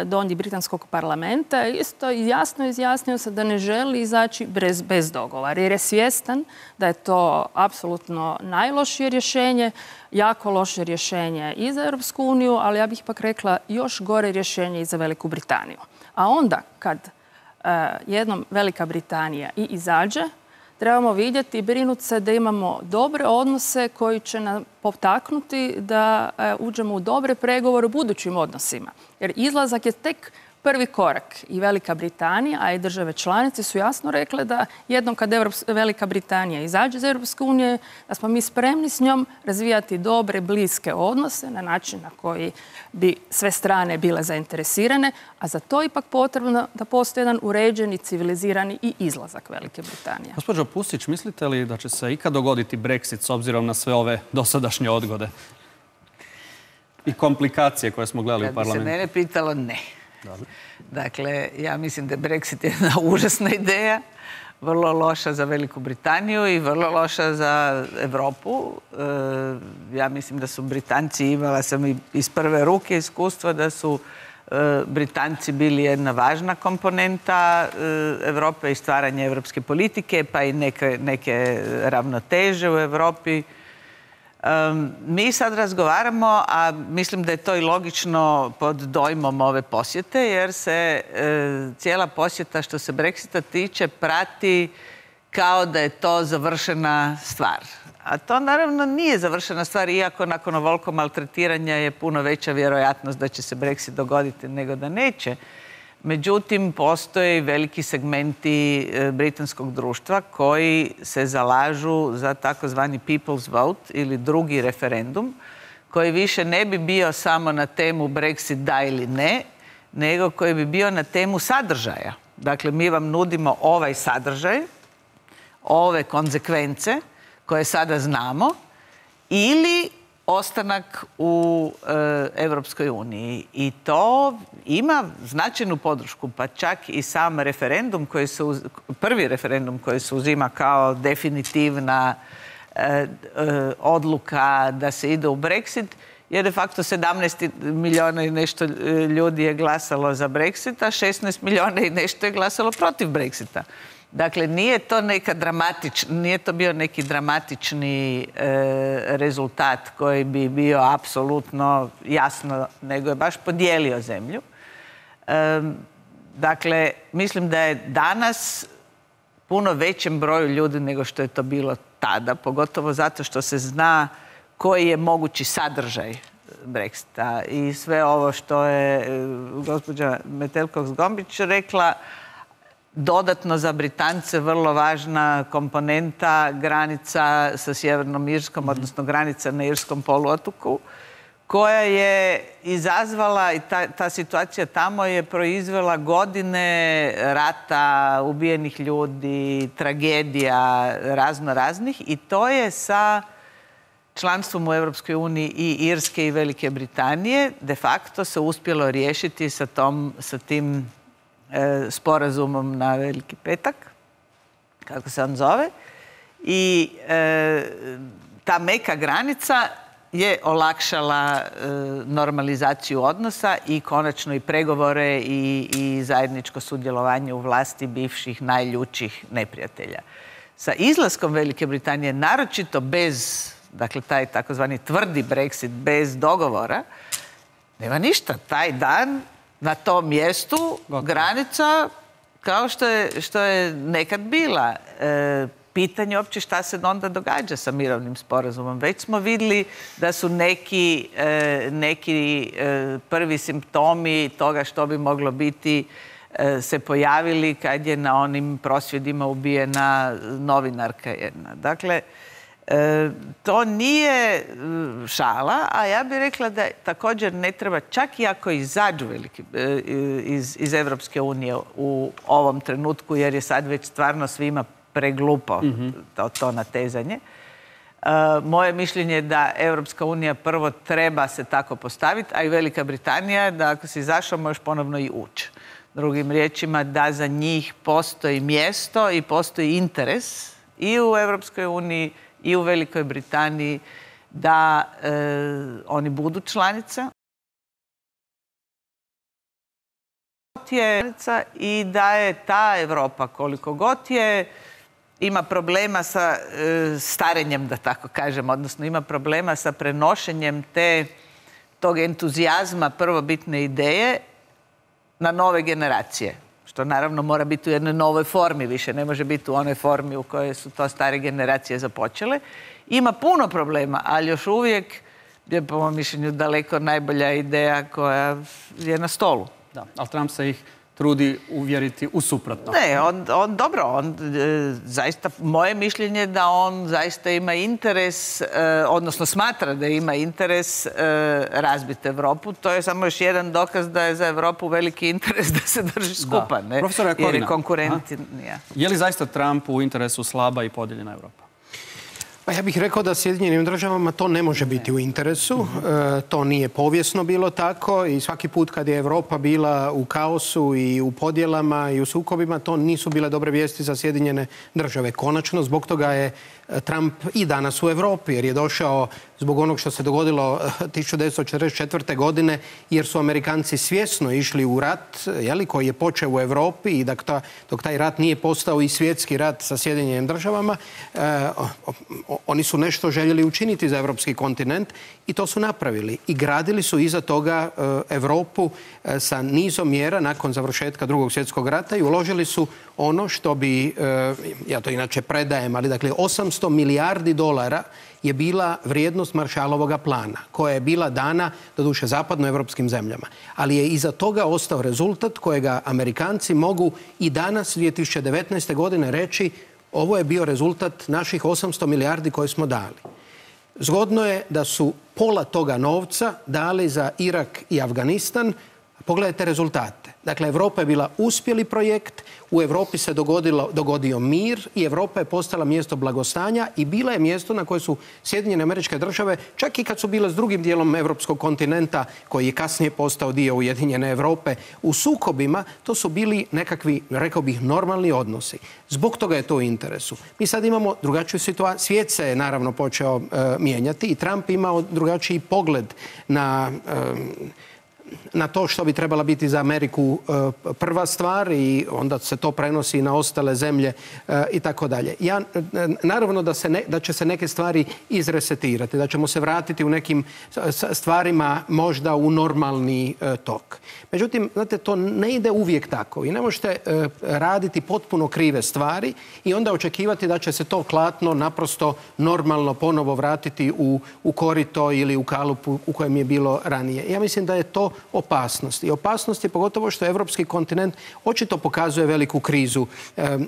[SPEAKER 9] donji britanskog parlamenta, isto jasno izjasnio se da ne želi izaći bez, bez dogovora, jer je svjestan da je to apsolutno najlošije rješenje, jako loše rješenje i za Europsku uniju, ali ja bih ipak rekla još gore rješenje i za Veliku Britaniju. A onda kad jednom Velika Britanija i izađe, trebamo vidjeti i brinuti se da imamo dobre odnose koji će nam potaknuti da uđemo u dobre pregovore u budućim odnosima. Jer izlazak je tek prvi korak i Velika Britanija, a i države članice su jasno rekle da jednom kad Velika Britanija izađe iz Europske unije, da smo mi spremni s njom razvijati dobre, bliske odnose na način na koji bi sve strane bile zainteresirane, a za to ipak potrebno da postoji jedan uređeni, civilizirani i izlazak Velike Britanije.
[SPEAKER 1] Gospođo Pusić, mislite li da će se ikad dogoditi Brexit s obzirom na sve ove dosadašnje odgode i komplikacije koje smo gledali u parlamentu?
[SPEAKER 10] Kad bi se mene pitalo, ne. Dakle, ja mislim da je Brexit jedna užasna ideja, vrlo loša za Veliku Britaniju i vrlo loša za Europu. Ja mislim da su Britanci, imala sam i iz prve ruke iskustva, da su Britanci bili jedna važna komponenta Europe i stvaranja europske politike, pa i neke, neke ravnoteže u Europi. Um, mi sad razgovaramo, a mislim da je to i logično pod dojmom ove posjete, jer se e, cijela posjeta što se Brexita tiče prati kao da je to završena stvar. A to naravno nije završena stvar, iako nakon ovoliko maltretiranja je puno veća vjerojatnost da će se Brexit dogoditi nego da neće. Međutim, postoje veliki segmenti britanskog društva koji se zalažu za takozvani people's vote ili drugi referendum, koji više ne bi bio samo na temu Brexit da ili ne, nego koji bi bio na temu sadržaja. Dakle, mi vam nudimo ovaj sadržaj, ove konzekvence koje sada znamo, ili ostanak u e, Europskoj uniji. I to ima značajnu podršku, pa čak i sam referendum, koji se uz, prvi referendum koji se uzima kao definitivna e, e, odluka da se ide u Brexit, je de facto sedamnaest milijuna i nešto ljudi je glasalo za Brexit, a šesnaest milijuna i nešto je glasalo protiv Brexita. Dakle, nije to neka dramatič, nije to bio neki dramatični e, rezultat koji bi bio apsolutno jasno, nego je baš podijelio zemlju. E, dakle, mislim da je danas puno većem broju ljudi nego što je to bilo tada, pogotovo zato što se zna koji je mogući sadržaj Brexita. I sve ovo što je gospođa Metelko-Zgombić rekla, dodatno za Britance vrlo važna komponenta granica sa Sjevernom Irskom, odnosno granica na Irskom poluotoku, koja je izazvala, i ta, ta situacija tamo je proizvela godine rata, ubijenih ljudi, tragedija razno raznih, i to je sa članstvom u Europskoj uniji i Irske i Velike Britanije de facto se uspjelo riješiti sa, tom, sa tim e, sporazumom na Veliki petak, kako se on zove. I e, ta meka granica je olakšala e, normalizaciju odnosa i konačno i pregovore i, i zajedničko sudjelovanje u vlasti bivših najljućih neprijatelja. Sa izlaskom Velike Britanije, naročito bez, dakle taj takozvani tvrdi Brexit, bez dogovora, nema ništa. Taj dan na tom mjestu granica kao što je, što je nekad bila. E, pitanje uopće šta se onda događa sa mirovnim sporazumom. Već smo vidjeli da su neki, e, neki e, prvi simptomi toga što bi moglo biti e, se pojavili kad je na onim prosvjedima ubijena novinarka jedna. Dakle, e, to nije šala, a ja bih rekla da također ne treba, čak i ako izađu veliki, e, iz, iz Evropske unije u ovom trenutku, jer je sad već stvarno svima preglupo mm-hmm. to, to natezanje. E, moje mišljenje je da Europska unija prvo treba se tako postaviti, a i Velika Britanija da ako si izašao možeš ponovno i ući. Drugim riječima da za njih postoji mjesto i postoji interes i u Europskoj uniji i u Velikoj Britaniji da e, oni budu članica. I da je ta Europa koliko god je ima problema sa e, starenjem, da tako kažem, odnosno ima problema sa prenošenjem te, tog entuzijazma prvobitne ideje na nove generacije. Što naravno mora biti u jednoj novoj formi, više ne može biti u onoj formi u kojoj su to stare generacije započele. Ima puno problema, ali još uvijek je po mom mišljenju daleko najbolja ideja koja je na stolu.
[SPEAKER 1] Da, ali Trump se ih trudi uvjeriti u suprotno.
[SPEAKER 10] Ne, on, on dobro, on e, zaista, moje mišljenje je da on zaista ima interes, e, odnosno smatra da ima interes e, razbiti Evropu. To je samo još jedan dokaz da je za Evropu veliki interes da se drži skupa, ne?
[SPEAKER 1] Profesor Jakovina,
[SPEAKER 10] jer je konkurentnija.
[SPEAKER 1] Je li zaista Trump u interesu slaba i podijeljena Evropa?
[SPEAKER 7] Pa ja bih rekao da Sjedinjenim državama to ne može biti u interesu. E, to nije povijesno bilo tako i svaki put kad je Europa bila u kaosu i u podjelama i u sukobima, to nisu bile dobre vijesti za Sjedinjene države. Konačno, zbog toga je Trump i danas u Europi, jer je došao zbog onog što se dogodilo tisuću devetsto četrdeset četvrte. godine, jer su Amerikanci svjesno išli u rat, jeli, koji je počeo u Europi i dok, ta, dok taj rat nije postao i svjetski rat sa Sjedinjenim državama, eh, oni su nešto željeli učiniti za europski kontinent i to su napravili. I gradili su iza toga eh, Europu eh, sa nizom mjera nakon završetka Drugog svjetskog rata i uložili su ono što bi, eh, ja to inače predajem, ali dakle osamsto milijardi dolara je bila vrijednost Maršalovoga plana, koja je bila dana, doduše, zapadnoevropskim zemljama. Ali je iza toga ostao rezultat kojega Amerikanci mogu i danas, dvije tisuće devetnaeste. godine, reći ovo je bio rezultat naših osamsto milijardi koje smo dali. Zgodno je da su pola toga novca dali za Irak i Afganistan. Pogledajte rezultate. Dakle, Europa je bila uspjeli projekt, u Europi se dogodilo, dogodio mir i Europa je postala mjesto blagostanja i bila je mjesto na koje su Sjedinjene Američke Države, čak i kad su bile s drugim dijelom europskog kontinenta, koji je kasnije postao dio Ujedinjene Europe, u sukobima, to su bili nekakvi, rekao bih, normalni odnosi. Zbog toga je to u interesu. Mi sad imamo drugačiju situaciju. Svijet se je naravno počeo uh, mijenjati i Trump imao drugačiji pogled na... Uh, na to što bi trebala biti za Ameriku prva stvar i onda se to prenosi na ostale zemlje i tako dalje. Ja, naravno da, se ne, da će se neke stvari izresetirati, da ćemo se vratiti u nekim stvarima možda u normalni tok. Međutim, znate, to ne ide uvijek tako i ne možete raditi potpuno krive stvari i onda očekivati da će se to klatno naprosto normalno ponovo vratiti u, u korito ili u kalupu u kojem je bilo ranije. Ja mislim da je to opasnost. I opasnost je pogotovo što evropski kontinent očito pokazuje veliku krizu e, e,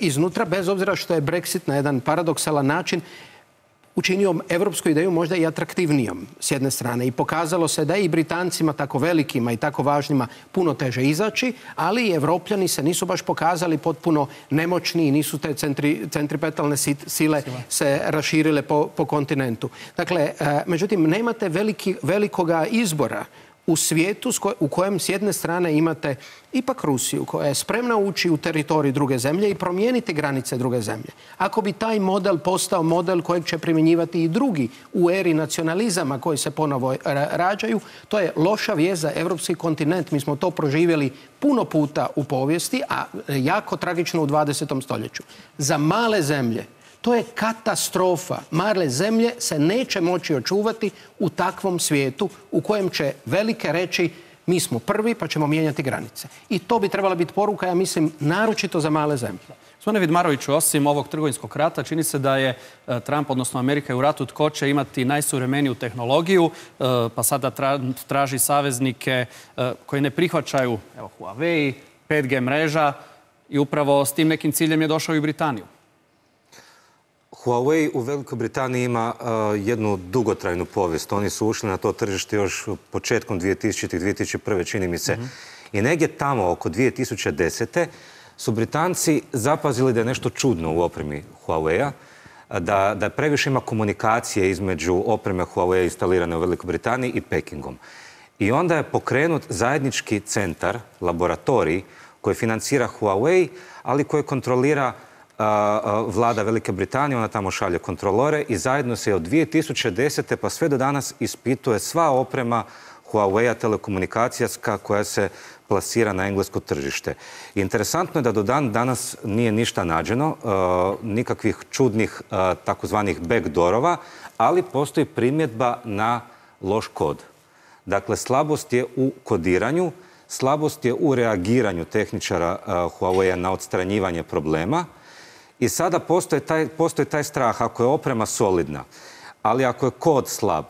[SPEAKER 7] iznutra, bez obzira što je Brexit na jedan paradoksalan način učinio evropsku ideju možda i atraktivnijom s jedne strane i pokazalo se da i Britancima tako velikima i tako važnima puno teže izaći, ali i Evropljani se nisu baš pokazali potpuno nemoćni i nisu te centri, centripetalne sile se raširile po, po kontinentu. Dakle, e, međutim, nemate veliki, velikoga izbora u svijetu u kojem s jedne strane imate ipak Rusiju koja je spremna ući u teritorij druge zemlje i promijeniti granice druge zemlje. Ako bi taj model postao model kojeg će primjenjivati i drugi u eri nacionalizama koji se ponovo rađaju, to je loša vijest za evropski kontinent. Mi smo to proživjeli puno puta u povijesti, a jako tragično u dvadesetom stoljeću. Za male zemlje to je katastrofa. Male zemlje se neće moći očuvati u takvom svijetu u kojem će velike reći mi smo prvi pa ćemo mijenjati granice. I to bi trebala biti poruka, ja mislim, naročito za male zemlje.
[SPEAKER 1] Gospodine Vidmaroviću, osim ovog trgovinskog rata, čini se da je Trump, odnosno Amerika, u ratu tko će imati najsuvremeniju tehnologiju, pa sada traži saveznike koji ne prihvaćaju, evo, Huawei, pet G mreža i upravo s tim nekim ciljem je došao i u Britaniju.
[SPEAKER 12] Huawei u Velikoj Britaniji ima uh, jednu dugotrajnu povijest. Oni su ušli na to tržište još početkom dvije tisućite. dvije tisuće prve. čini mi se. Mm-hmm. I negdje tamo oko dvije tisuće desete. su Britanci zapazili da je nešto čudno u opremi Huawei-a, da, da previše ima komunikacije između opreme Huawei instalirane u Velikoj Britaniji i Pekingom. I onda je pokrenut zajednički centar, laboratorij, koji financira Huawei, ali koji kontrolira vlada Velike Britanije, ona tamo šalje kontrolore i zajedno se od dvije tisuće desete pa sve do danas ispituje sva oprema Huawei-a telekomunikacijska koja se plasira na englesko tržište. I interesantno je da do dan danas nije ništa nađeno, nikakvih čudnih takozvanih backdoorova, ali postoji primjedba na loš kod. Dakle, slabost je u kodiranju, slabost je u reagiranju tehničara Huawei-a na odstranjivanje problema. I sada postoji taj, postoji taj strah, ako je oprema solidna, ali ako je kod slab,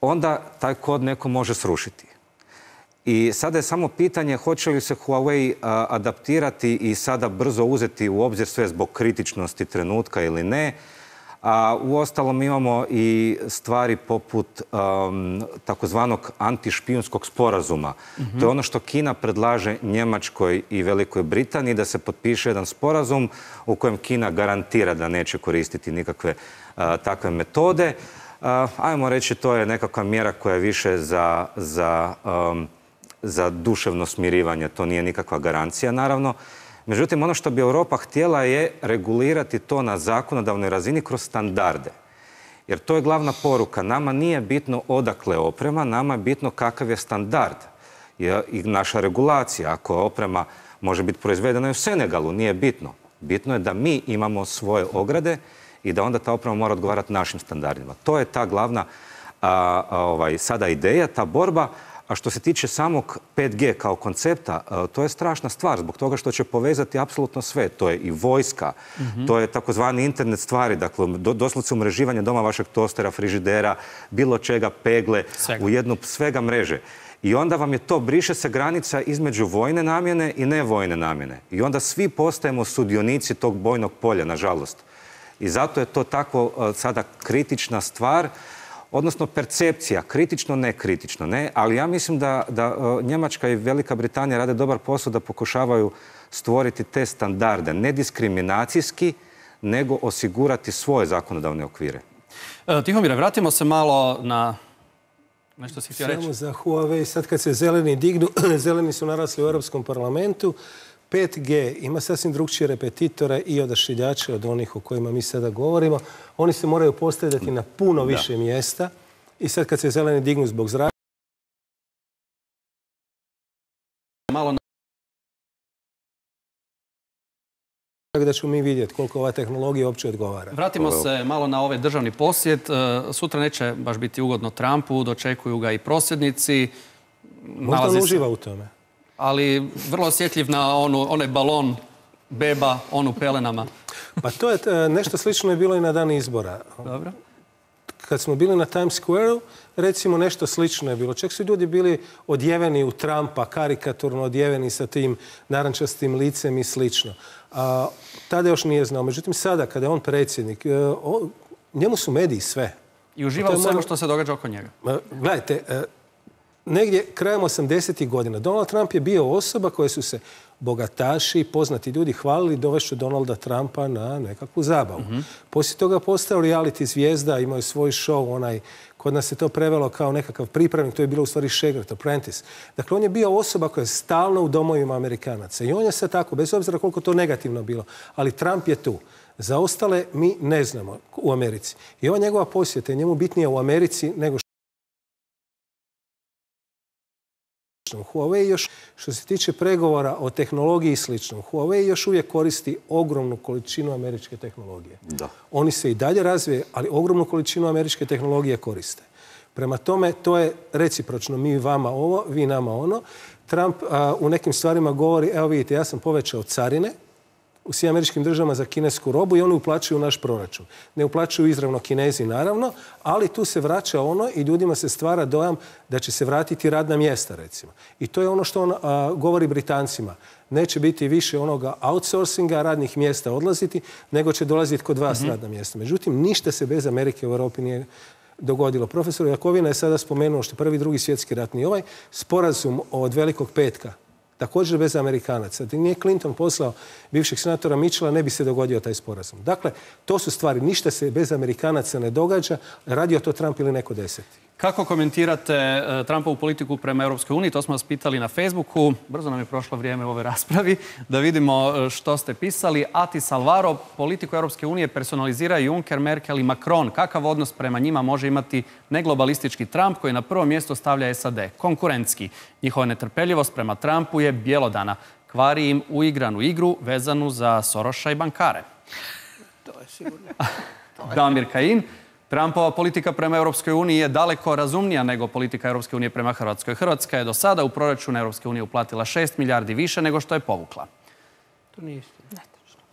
[SPEAKER 12] onda taj kod neko može srušiti. I sada je samo pitanje hoće li se Huawei a, adaptirati i sada brzo uzeti u obzir sve zbog kritičnosti trenutka ili ne. A uostalom imamo i stvari poput um, takozvanog antišpijunskog sporazuma. Mm-hmm. To je ono što Kina predlaže Njemačkoj i Velikoj Britaniji, da se potpiše jedan sporazum u kojem Kina garantira da neće koristiti nikakve uh, takve metode. Uh, ajmo reći, to je nekakva mjera koja je više za, za, um, za duševno smirivanje. To nije nikakva garancija, naravno. Međutim, ono što bi Europa htjela je regulirati to na zakonodavnoj razini kroz standarde. Jer to je glavna poruka. Nama nije bitno odakle oprema, nama je bitno kakav je standard. I naša regulacija, ako oprema može biti proizvedena u Senegalu, nije bitno. Bitno je da mi imamo svoje ograde i da onda ta oprema mora odgovarati našim standardima. To je ta glavna a, a, ovaj, sada ideja, ta borba. A što se tiče samog pet G kao koncepta, to je strašna stvar zbog toga što će povezati apsolutno sve. To je i vojska, mm-hmm. to je takozvani internet stvari, dakle doslovce umreživanje doma vašeg tostera, frižidera, bilo čega, pegle, svega. u jednu svega mreže. I onda vam je to, briše se granica između vojne namjene i nevojne namjene. I onda svi postajemo sudionici tog bojnog polja, nažalost. I zato je to tako sada kritična stvar, odnosno percepcija, kritično, ne kritično, ne, ali ja mislim da, da Njemačka i Velika Britanija rade dobar posao da pokušavaju stvoriti te standarde, ne diskriminacijski, nego osigurati svoje zakonodavne okvire.
[SPEAKER 1] E, Tihomire, vratimo se malo na nešto si htio reći.
[SPEAKER 11] Samo za Huawei, sad kad se zeleni dignu, zeleni su narasli u Europskom parlamentu, pet G ima sasvim drugčije repetitore i odašiljače od onih o kojima mi sada govorimo. Oni se moraju postavljati na puno više da. mjesta i sad kad se zeleni dignu zbog zraka,
[SPEAKER 1] malo na...
[SPEAKER 11] da ćemo mi vidjeti koliko ova tehnologija uopće odgovara.
[SPEAKER 1] Vratimo se malo na ovaj državni posjet. Sutra neće baš biti ugodno Trumpu, dočekuju ga i prosvjednici.
[SPEAKER 11] Možda on uživa u tome.
[SPEAKER 1] Ali vrlo osjetljiv na onu, onaj balon beba, on u pelenama.
[SPEAKER 11] Pa to je nešto slično je bilo i na dan izbora.
[SPEAKER 1] Dobro.
[SPEAKER 11] Kad smo bili na Times Square-u, recimo nešto slično je bilo. Čak su ljudi bili odjeveni u Trumpa, karikaturno odjeveni sa tim narančastim licem i slično. A, tada još nije znao. Međutim, sada, kada je on predsjednik, o, njemu su mediji sve.
[SPEAKER 1] I uživa u svemu što se događa oko njega.
[SPEAKER 11] Gledajte, negdje krajem osamdesetih godina Donald Trump je bio osoba koje su se bogataši, poznati ljudi hvalili dovešću Donalda Trumpa na nekakvu zabavu. Mm-hmm. Poslije toga postao reality zvijezda, imao je svoj show, onaj, kod nas se to prevelo kao nekakav pripravnik, to je bilo u stvari Shagrat, Apprentice. Dakle, on je bio osoba koja je stalno u domovima Amerikanaca. I on je sve tako, bez obzira koliko to negativno bilo. Ali Trump je tu. Za ostale mi ne znamo u Americi. I ova njegova posjeta je njemu bitnija u Americi nego Huawei još, što se tiče pregovora o tehnologiji i slično, Huawei još uvijek koristi ogromnu količinu američke tehnologije. Da. Oni se i dalje razvije, ali ogromnu količinu američke tehnologije koriste. Prema tome, to je recipročno. Mi vama ovo, vi nama ono. Trump a, u nekim stvarima govori, evo vidite, ja sam povećao carine u svim američkim državama za kinesku robu i oni uplaćuju naš proračun. Ne uplaćuju izravno Kinezi, naravno, ali tu se vraća ono i ljudima se stvara dojam da će se vratiti radna mjesta, recimo. I to je ono što on a, govori Britancima. Neće biti više onoga outsourcinga, radnih mjesta odlaziti, nego će dolaziti kod vas mm-hmm. radna mjesta. Međutim, ništa se bez Amerike u Europi nije dogodilo. Profesor Jakovina je sada spomenuo što prvi, drugi svjetski rat ni ovaj sporazum od Velikog petka, također bez Amerikanaca. Da nije Clinton poslao bivšeg senatora Mitchella, ne bi se dogodio taj sporazum. Dakle, to su stvari. Ništa se bez Amerikanaca ne događa. Radio to Trump ili neko deseti.
[SPEAKER 1] Kako komentirate Trumpovu politiku prema Europskoj uniji? To smo vas pitali na Facebooku. Brzo nam je prošlo vrijeme u ovoj raspravi. Da vidimo što ste pisali. Atis Alvaro, politiku Europske unije personalizira Juncker, Merkel i Macron. Kakav odnos prema njima može imati neglobalistički Trump koji na prvo mjesto stavlja S A D? Konkurentski. Njihova netrpeljivost prema Trumpu je bjelodana. Kvari im uigranu igru vezanu za Soroša i bankare.
[SPEAKER 10] To je sigurno.
[SPEAKER 1] Damir Kajin. Trumpova politika prema Europskoj uniji je daleko razumnija nego politika Europske unije prema Hrvatskoj. Hrvatska je do sada u proračun Europske unije uplatila šest milijardi više nego što je povukla.
[SPEAKER 10] To nije isto.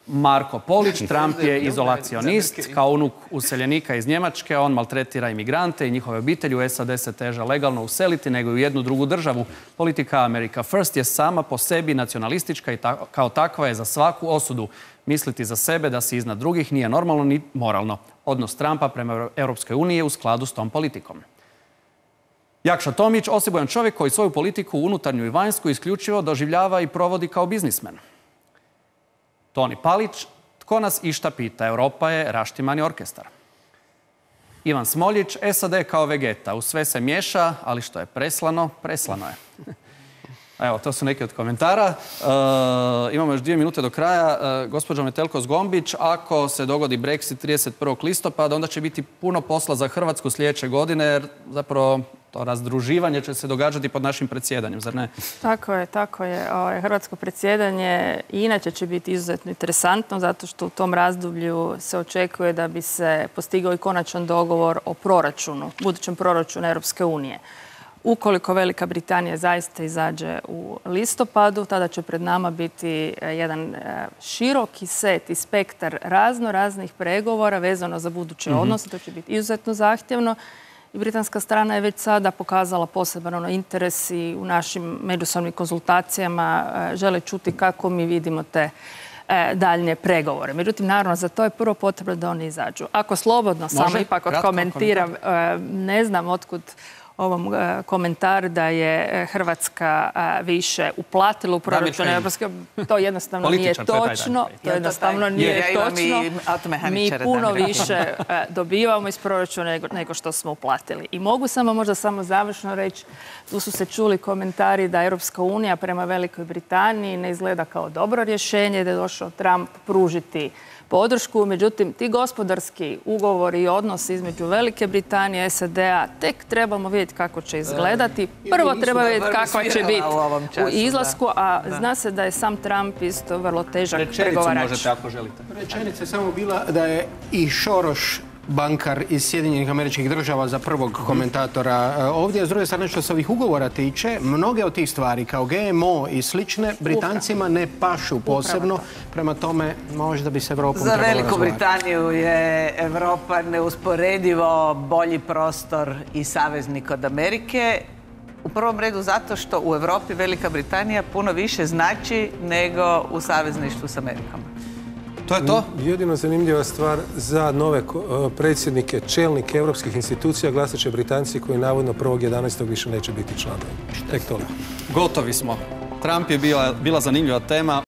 [SPEAKER 1] Marko Polić, Trump je izolacionist. Kao unuk useljenika iz Njemačke, on maltretira imigrante i njihove obitelji. U S A D se teže legalno useliti nego i u jednu drugu državu. Politika America First je sama po sebi nacionalistička i ta, kao takva je za svaku osudu. Misliti za sebe da si iznad drugih nije normalno ni moralno. Odnos Trumpa prema Europskoj uniji je u skladu s tom politikom. Jakša Tomić, osebujan čovjek koji svoju politiku unutarnju i vanjsku isključivo doživljava i provodi kao biznismen. Toni Palić, tko nas išta pita? Europa je raštimani orkestar. Ivan Smoljić, S A D kao vegeta. U sve se miješa, ali što je preslano, preslano je. Evo, to su neki od komentara. E, imamo još dvije minute do kraja. E, gospođo Metelko-Zgombić, ako se dogodi Brexit trideset prvog listopada, onda će biti puno posla za Hrvatsku sljedeće godine, jer zapravo to razdruživanje će se događati pod našim predsjedanjem, zar ne?
[SPEAKER 9] Tako je, tako je. Hrvatsko predsjedanje i inače će biti izuzetno interesantno, zato što u tom razdoblju se očekuje da bi se postigao i konačan dogovor o proračunu, budućem proračunu Europske unije. Ukoliko Velika Britanija zaista izađe u listopadu, tada će pred nama biti jedan široki set i spektar razno raznih pregovora vezano za buduće mm-hmm. odnose. To će biti izuzetno zahtjevno. I britanska strana je već sada pokazala poseban ono, interes i u našim međusobnim konzultacijama žele čuti kako mi vidimo te e, daljnje pregovore. Međutim, naravno, za to je prvo potrebno da oni izađu. Ako slobodno Može? samo ipak odkomentiram, e, ne znam otkud ovom e, komentar da je Hrvatska e, više uplatila u proračun Europske. To jednostavno nije točno. To jednostavno nije točno. Mi puno više e, dobivamo iz proračuna nego, nego što smo uplatili. I mogu samo možda samo završno reći, tu su se čuli komentari da Europska unija prema Velikoj Britaniji ne izgleda kao dobro rješenje, da je došao Trump pružiti podršku. Međutim, ti gospodarski ugovori i odnosi između Velike Britanije i S A D-a tek trebamo vidjeti kako će izgledati. Prvo treba vidjeti kakva će biti u izlasku, a zna se da je sam Trump isto vrlo težak pregovarač.
[SPEAKER 1] Rečenicu možete ako želite.
[SPEAKER 7] Rečenica je samo bila da je i Šoroš bankar iz Sjedinjenih Američkih Država za prvog komentatora ovdje. S druge strane, što se ovih ugovora tiče, mnoge od tih stvari kao G M O i slične Britancima ne pašu posebno. Prema tome, možda bi se Evropom trebalo razgovarati.
[SPEAKER 10] Za Veliku Britaniju je Evropa neusporedivo bolji prostor i saveznik od Amerike. U prvom redu zato što u Europi Velika Britanija puno više znači nego u savezništvu s Amerikom.
[SPEAKER 1] To je to?
[SPEAKER 11] Jedino zanimljiva stvar za nove predsjednike, čelnike europskih institucija glasat će Britanci koji navodno prvog jedanaestog više neće biti članovi. Tek toliko.
[SPEAKER 1] Gotovi smo. Trump je bila zanimljiva tema.